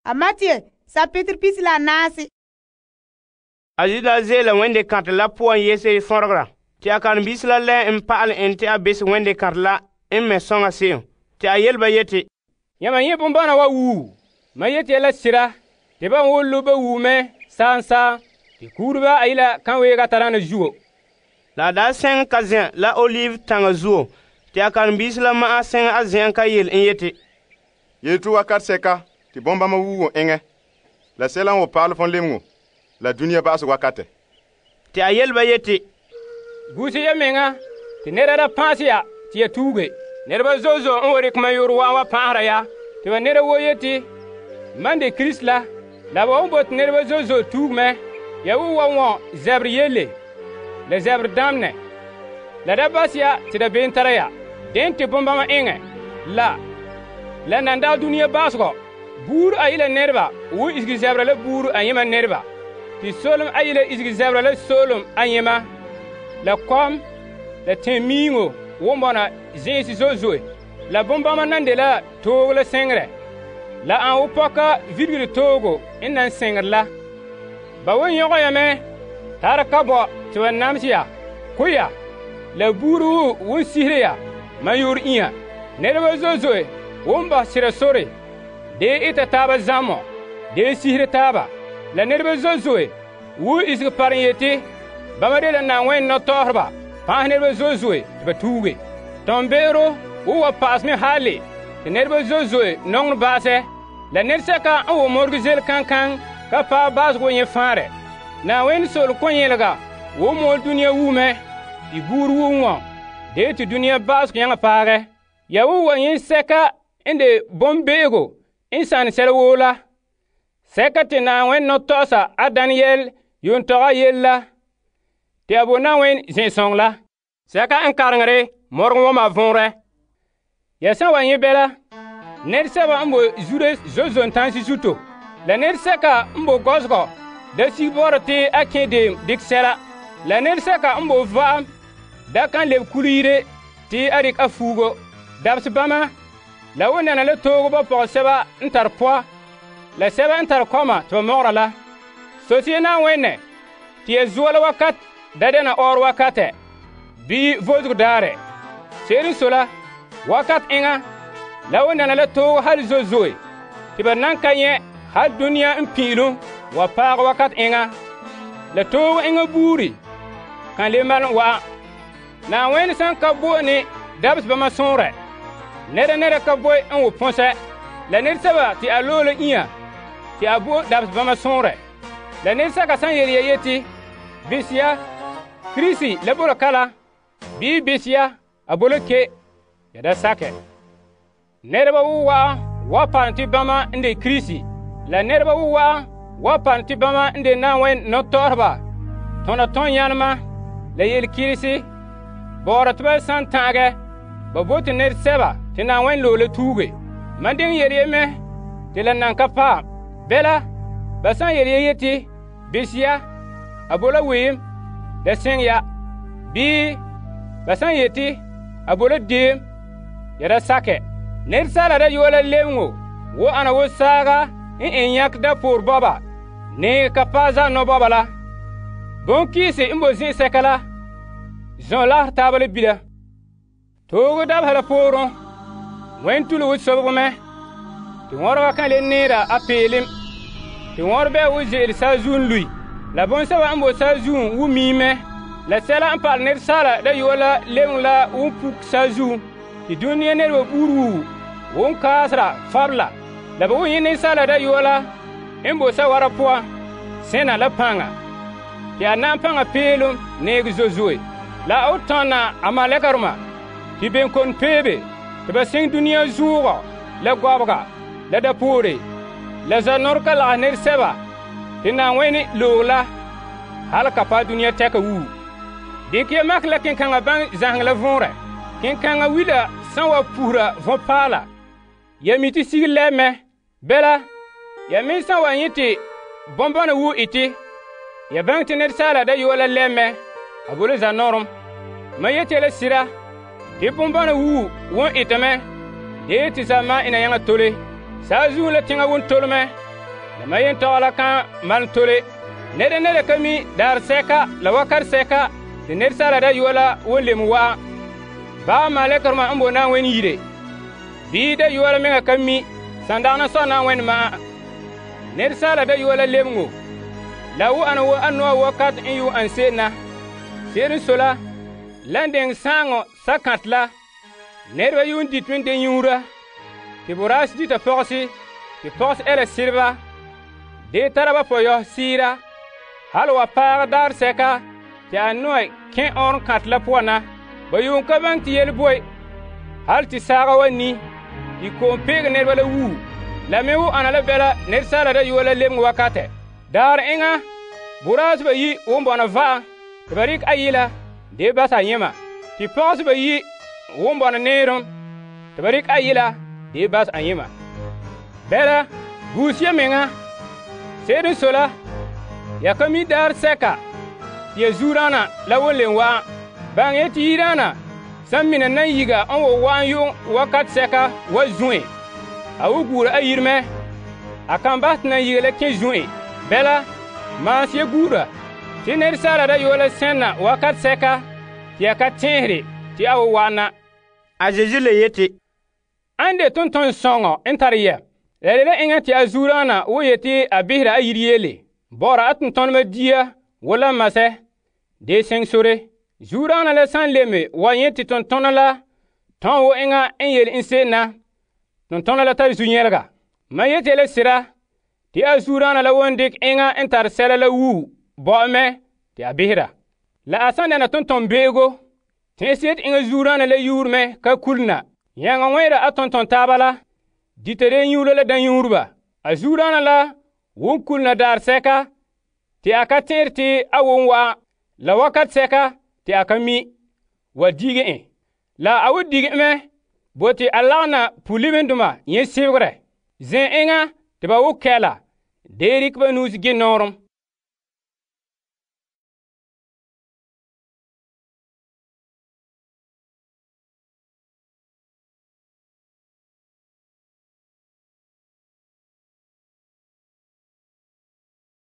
A Matthew sapitr pisi la naasi. A Yuda ze'ela wende kantɛ la poan yese fɔnregera. Te a karen-biisi la lɛ n pa'alɛ en te a besɛ wende kantɛ la n mɛ soŋa se'em. Te a yele ba yeti, Yãmba nyɛ' bonbana wa wuu. Mam yeti ya la sira, te ba woo lobe ba wuu mɛ saa te kuureba ayila kan weega tadaana zuo. La a daa sɛŋɛ ka zen'an la Olive taŋa zuo. Te a karen-biisi la ma'an sɛŋɛ a zen'an ka yele en yeti, Yeto wakat sɛka te bɔmbama wuugo eŋɛ, la sɛla n wa pa'alɛ fon lemeŋo, la dunia ba'asɛ wakatɛ. Te a yele ba yeti, Guuse ya meŋa te nɛra da pãasɛ ya te ya tuuge. Nɛreba zo'e zo'e n wa rekɛ mam yore wa'an wa pãahera ya. Te ba nɛra woo yeti, mam de Krista la, la ba won bote nɛreba zo'e zo'e tuuge mɛ. Ya wo wa wɔn zɛberɛ yele, la zɛberɛ damnɛ. La da bas ya te da be'em tara ya. Den te bombama eŋɛ, la nan daa dunia baasegɔ. Buuri ayila nɛreba wo isege zɛbera la buuri ayema nɛreba. Te solem ayila isege zɛbera la solem ayema. La kɔm, la tẽmiiŋo won bɔna zĩisi zo'e zo'e. La bombama nan de la toogo la sɛŋerɛ. La an wo pɔka virigiri toogo n nan sɛŋerɛ la. Ba won yõgɔ ya mɛ tara ka bɔ te ba namsɛ ya, ko ya. La buuri wo won sihire ya man yor inya. Nɛreba zo'e zo'e won ba sira sore, dee ita taaba zamɔ, dee sihire taaba. La nɛreba zo'e zo'e wo isege paren yeti, bama de la Na'ayenɛ nɔtɔɔreba pãas nɛreba zo'e zo'e te ba tuuge. Tɔmbe'ero wo wa pa'asɛ mɛ haale te nɛreba zo'e zo'e nɔŋerɛ baasɛ. La nɛresɛka n wo morege zel kankan ka paɛ baasegɔ nyɛ fãarɛ. Na'ayenɛ solem kɔnyelega wo mɔɔl dunia wuu mɛ, te buuri wuu wɔn, dee te dunia baasegɔ yaŋa paagɛ. Ya wo wa nyɛ sɛka n de bombe'ego n sanɛ sɛla woo la. Sɛka te Na'ayenɛ nɔtɔgɔsa a Daniel yuun tɔgɛ yele la, te a bo Na'ayenɛ zẽ'sɔŋɔ la. Sɛka n kareŋere morgen wama vɔnrɛ. Ya san wa nyɛ bɛla, nɛresɛba n bo zure zo'e zo'e tansi zuto. La nɛresɛka n bo gɔzegɔ da sig bɔ'ɔrɛ te a kẽ deem dikɛ sɛla. La nɛresɛka n bo va'am da kan lebe kule yire te a dikɛ a fuugo. Dabse bama, la wo nana la toogo ba pɔgɔsɛba n tare pɔa, la sɛba n tare kɔma te ba mɔgera la. Sosie Na'ayenɛ te ya zuo la wakat da dɛna ɔɔrɔ wakatɛ, bii vosego daarɛ. Se'ere n sɔe la, wakat eŋa, la wo nana la toogo hal zo'e zo'e, te ba nan ka nyɛ hal dunia n pi'ilum wa paagɛ wakat eŋa. La toogo eŋa buuri kan le malum wa'an. Na'ayenɛ san ka bo ne dabse bama sõorɛ, nɛra ka boe n wo pɔsɛ. La nɛresɛba te a loe la inya te a bo dabse bama sõorɛ. La nɛresɛka san yele ya yeti, bisiya, Kirisi la bo la kala, bii bisiya, a bo la ke, ya da sakɛ. Nɛreba wo wa'an wa paam te bama n de Kirisi, la nɛreba wo wa'an wa paam te bama n de Na'ayenɛ nɔtɔɔreba, tõna tõn-yãnema, la yele-kirisi, bɔɔrɛ te ba san ta'agɛ, ba bote nɛresɛba te Na'ayenɛ loe la tuuge. Man diŋ yele ye mɛ te la nan ka paam. Bɛla, ba san yele ye yeti, bisiya, a bo la weem, la sɛŋ ya. Bii, ba san yeti, a bo la deem, ya da sakɛ. Nɛresaala da yoa la lebeŋo wo ana wo saaga n en yãk da poor bɔba, ne ka paɛ za nɔbɔba la. Bonkiisi n bo zĩ'sɛka la, zɔn lagerɛ taaba la bila. Toogo dabeha la pooren, wẽn tule wo sobego mɛ, te wɔrɔba kan le neera a peelem, te wɔrebɛ wo ze'ele saazuun lui. La bõn-sɛba n bo saazuun wo miim mɛ, la sɛla n pa'alɛ nɛresaala da yoa la lebeŋ la won puk saazuun, te dunia nɛreba buuri wuu won kaasera fabla. La ba wo nyɛ nɛresaala da yoa la n bo sawara poan, sẽna la pãnga, te a na n pãnga peelem neege zo'e zo'e. La a wo tɔnna a malɛkarema te ben kon peebe te ba sẽng dunia zuugɔ, la gɔbega, la dapoore, la zanɔrega lagas nɛresɛba te Na'ayenɛ loog la hal ka paɛ dunia tɛka wuu. Dɩk ya makɛ la kenkaŋa baŋ zãseng la võorɛ. Kenkaŋa wila sãn wa pusra võ-paala, ya mi tɩ sig lɛb mɛ. Bɛla, ya me sãn wa yẽ tɩ bõn-bãna wuu ɩtɩ, ya bãng tɩ nɛresaala da yoa la lɛb mɛ, a bo la zanɔrem. Ma yeti la sira, tɩ bõn-bãna wuu won ɩtame, dee tɩ zãma ina yãŋa tole. Saazuun la tẽŋa won tole mɛ, la mayentɔgɔ la kan malom tole. Nede ka mi daar sɛka la wakat sɛka te Asaala Dayɔa la wan lem wa'an. Ba malekarema n bo Na'ayenɛ yire. Bii Dayɔa la meŋa ka mi san dagana sɔ Na'ayenɛ ma'an. Asaala Dayɔa la lebeŋo la wo ana wo anɔa wakat n yuun an se'em na. Se'ere n sɔe la, lan deŋɛ saaŋɔ sakãtɛ la, nɛreba yuun dite mɛ de nyuura, te boraanse dita pɔgɔse, te pɔgɔse ɛla sereba, de tara ba pɔyɔ siira, hal wa paag daar sɛka te a nɔɛ kẽ ɔɔrɔn kãtɛ la poan na. Ba yuun ka baŋɛ te yele boe, hal te saaga wa ni, te ko'om peege nɛreba la wuu. La me wo ana la bɛla Asaala Dayɔa la lebeŋe wakatɛ. Daar enŋa, boraanse bayi won bɔna va'am, te ba rekɛ ayila de basa yẽma. Te pɔgɔse bayi won bɔna neerom, te ba rekɛ ayila de bas a yẽma. Bɛla, guus ya meŋa. Se'ere n sɔe la, ya ka mi daar sɛka te ya zuodaana la won len wa'an. Baŋɛ ya te yidaana san mina nan yiga n wo wa'an yu'um wakat sɛka wa zũ'e. A wo guura a yire mɛ. A kan bahɛ te nan yiga la kẽ zũ'e. Bɛla, maanse ya guura te Asaala Dayɔa la sẽnna wakat sɛka te ya ka tẽesere te a wo wa'an na. A Zeezi le yeti, An de tonton-sɔŋɔ n tare yɛ. La le la eŋa te a zuodaana wo yeti a behera a yire yeele. Bɔ'ɔra a tontoneba dia wo la masɛ. De seŋ sore. Zuodaana la san leme wa nyɛ te tontona la tõn wo eŋa n yele n se'em na, tontona la tare zu-nyɛlega. Mam yeti la sera te a zuodaana la won dikɛ eŋa n tare sɛla la wuu bɔ'ɔ mɛ te a behera. La a san dɛna tonton-beego, tẽese te eŋa zuodaana la yuur mɛ ka kulena. Yãŋa wẽera a tonton taaba la, dita de nyuuro la dãnyuurba. A zuodaana la won kulena daar sɛka te a ka tẽer te a won wa'an, la wakat sɛka te a ka mi, wa dige en. La a wo dige mɛ bo te a lagena pu-libendoma yẽ sebegrɛ. Zẽ enŋa te ba wo kɛla, de rikɛ ba nuus gẽ nɔɔrem.